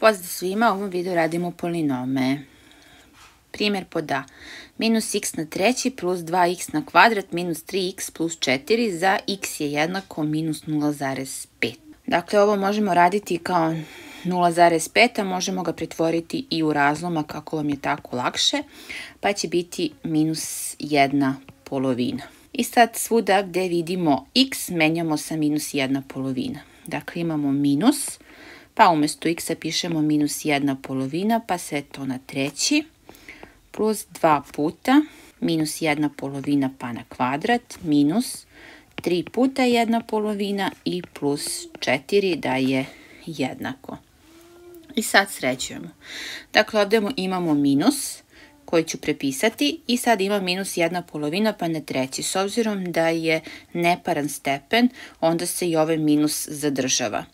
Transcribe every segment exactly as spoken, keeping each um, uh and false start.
Pozdrav svima, u ovom videu radimo polinome. Primjer pod A. Minus x na treći plus dva x na kvadrat minus tri x plus četiri za x je jednako minus nula zarez pet. Dakle, ovo možemo raditi kao nula zarez pet, a možemo ga pretvoriti i u razlomak kako vam je tako lakše, pa će biti minus jedna polovina. I sad svuda gdje vidimo x menjamo sa minus jedna polovina. Dakle, imamo minus, pa umjesto x pišemo minus jedna polovina, pa sve to na treći, plus dva puta, minus jedna polovina pa na kvadrat, minus tri puta jedna polovina i plus četiri da je jednako. I sad sređujemo. Dakle, ovdje imamo minus koji ću prepisati i sad ima minus jedna polovina pa na treći. S obzirom da je neparan stepen, onda se i ovaj minus zadržava.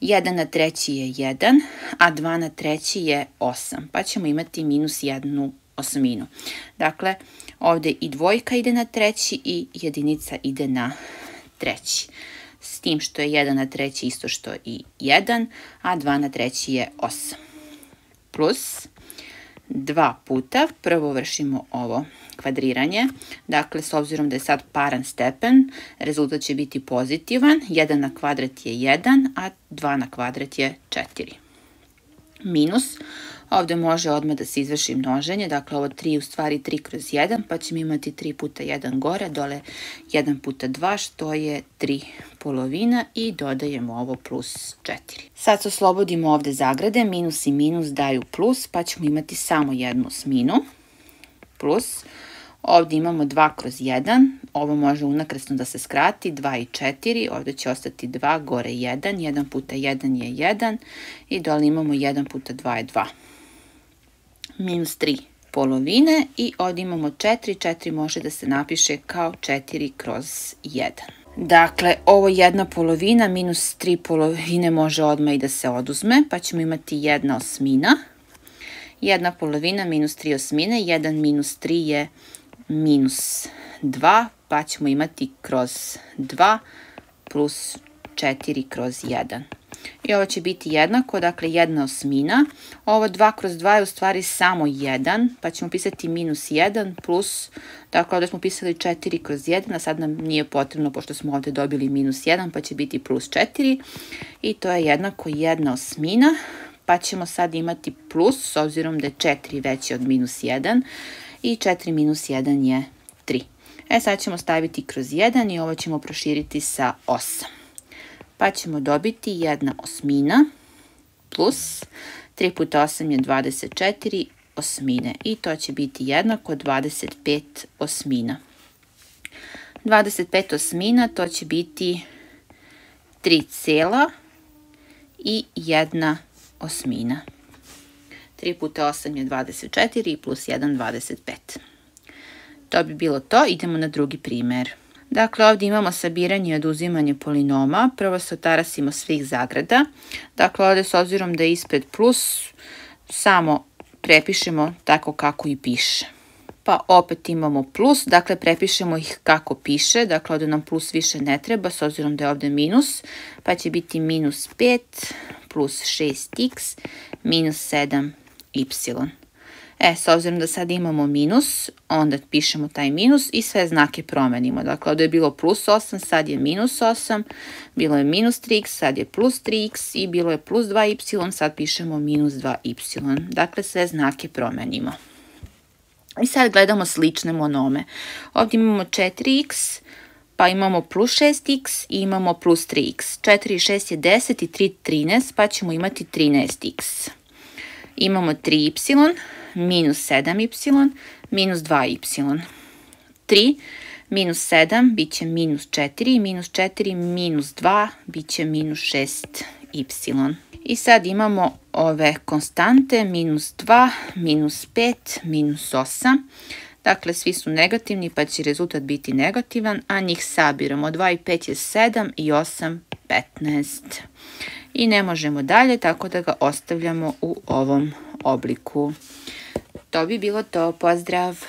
jedan na treći je jedan, a dva na treći je osam, pa ćemo imati minus jednu osminu. Dakle, ovdje i dvojka ide na treći i jedinica ide na treći. S tim što je jedan na treći isto što i jedan, a dva na treći je osam. Plus dva puta, prvo vršimo ovo kvadriranje, dakle s obzirom da je sad paran stepen, rezultat će biti pozitivan, jedan na kvadrat je jedan, a dva na kvadrat je četiri. Minus, ovdje može odmah da se izvrši množenje, dakle ovo tri je u stvari tri kroz jedan, pa ćemo imati tri puta jedan gore, dole jedan puta dva, što je tri polovina i dodajemo ovo plus četiri. Sad se oslobodimo ovdje zagrade, minus i minus daju plus, pa ćemo imati samo jednu osminu, plus, ovdje imamo dva kroz jedan, ovo može unakrsno da se skrati, dva i četiri, ovdje će ostati dva, gore jedan, jedan puta jedan je jedan i dole imamo jedan puta dva je dva. Minus tri polovine i ovdje imamo četiri, četiri može da se napiše kao četiri kroz jedan. Dakle, ovo jedna polovina minus tri polovine može odmah i da se oduzme, pa ćemo imati jedna osmina. Jedna polovina minus tri osmine, jedan minus tri je minus dva, pa ćemo imati kroz dva plus četiri kroz jedan. I ovo će biti jednako, dakle jedna osmina. Ovo dva kroz dva je u stvari samo jedan, pa ćemo pisati minus jedan plus, dakle ovdje smo pisali četiri kroz jedan, a sad nam nije potrebno pošto smo ovdje dobili minus jedan, pa će biti plus četiri. I to je jednako jedna osmina, pa ćemo sad imati plus, s obzirom da je četiri veće od minus jedan, i četiri minus jedan je tri. E sad ćemo staviti kroz jedan i ovo ćemo proširiti sa osam. Pa ćemo dobiti jedna osmina plus tri puta osam je dvadeset četiri osmine i to će biti jednako dvadeset pet osmina. dvadeset pet osmina to će biti tri cela i jedna osmina. tri puta osam je dvadeset četiri plus jedan dvadeset pet. To bi bilo to, idemo na drugi primjer. Dakle, ovdje imamo sabiranje i oduzimanje polinoma. Prvo se otarasimo svih zagrada. Dakle, ovdje s obzirom da je ispred plus, samo prepišemo tako kako i piše. Pa opet imamo plus, dakle prepišemo ih kako piše. Dakle, ovdje nam plus više ne treba, s obzirom da je ovdje minus. Pa će biti minus pet plus šest x minus sedam y. E, s obzirom da sad imamo minus, onda pišemo taj minus i sve znake promenimo. Dakle, ovdje je bilo plus osam, sad je minus osam, bilo je minus tri x, sad je plus tri x i bilo je plus dva y, sad pišemo minus dva y. Dakle, sve znake promenimo. I sad gledamo slične monome. Ovdje imamo četiri x, pa imamo plus šest x i imamo plus tri x. četiri i šest je deset i tri trinaest, pa ćemo imati trinaest x. Imamo tri y, minus sedam y, minus dva y. tri minus sedam bit će minus četiri, minus četiri minus dva bit će minus šest y. I sad imamo ove konstante, minus dva, minus pet, minus osam. Dakle, svi su negativni pa će rezultat biti negativan, a njih sabiramo. dva i pet je sedam i osam petnaest. I ne možemo dalje, tako da ga ostavljamo u ovom obliku. To bi bilo to. Pozdrav!